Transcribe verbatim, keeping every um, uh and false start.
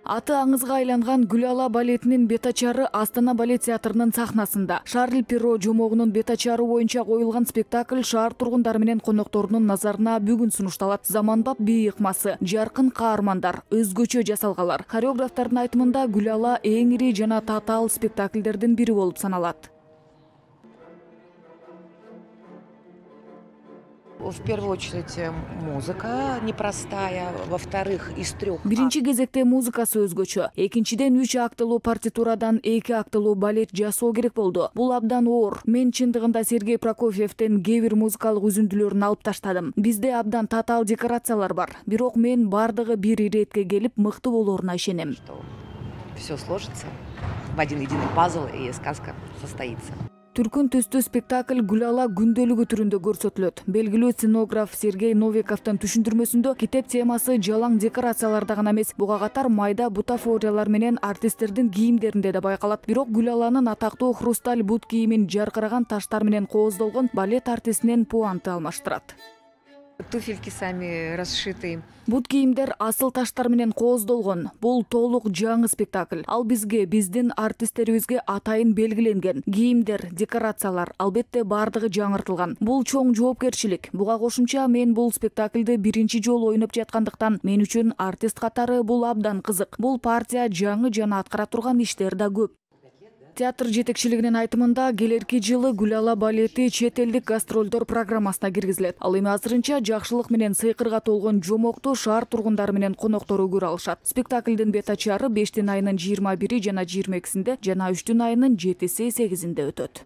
Аты аңызга айланган Гүлала балетинин бетачары Астана балет театрынын сахнасында. Шарль Перро жомогунун бетачары боюнча коюлган спектакль шаар тургундары менен конокторунун назарына бүгүн сунушталат. Заманбап бий ыкмасы, жаркын каармандар, өзгөчө жасалгалар. Хореографтардын айтымында Гүлала эң ири жана татаал спектакльдердин бири болуп саналат. В первую очередь музыка непростая, во-вторых, из трех. Биринчи кезекте музыкасы өзгөчө, экинчиден үч актылуу партитурадан эки актылуу балет жасоо керек болду. Бул абдан оор. Мен чындыгында Сергей Прокофьевден кээ бир музыкалык үзүндүлөрүн алып таштадым. Бизде абдан татаал декорациялар бар, бирок мен бардыгы бир иретке келип мыкты болоруна ишенем. Все сложится в один единый пазл и сказка состоится. Түркүн түстүү спектакль Гүлала күндөлүгү түрүндө көрсөтүлөт. Белгилүү сценограф Сергей Новиковдун түшүндүрмөсүндө китеп темасы жалаң декорацияларда гана эмес, буга катар майда бутафориялар менен артисттердин кийимдеринде да байкалат. Бирок Гүлаланын атактуу хрусталь бут кийимин жаркыраган таштар менен кооздолгон балет артистинен пуанты алмаштырат. Туфельки сами расшиты. Бут кийимдер асыл таштар менен кооздолгон. Бул толук жаңы спектакль. Ал бизге, биздин артисттерибизге атайын белгиленген. Кийимдер, декорациялар албетте бардыгы жаңыртылган. Бул чоң жоопкерчилик. Буга кошумча мен бул спектакльди биринчи жолу ойноп жаткандыктан мен үчүн артист катары бул абдан кызык. Бул партия жаңы жана аткара турган иштер да көп. Театр жетекчилигинин айтымында келерки жылы Гүлала балети чет элдик гастролдор программасына киргизилет. Ал эми азырынча жакшылык менен сыйкырга толгон жомокту шаар тургундары менен коноктору көрө алышат. Спектаклдин бетачары бештин айынын жыйырма бири жана жыйырма экисинде жана үчтүн айынын жетиси сегизинде өтөт.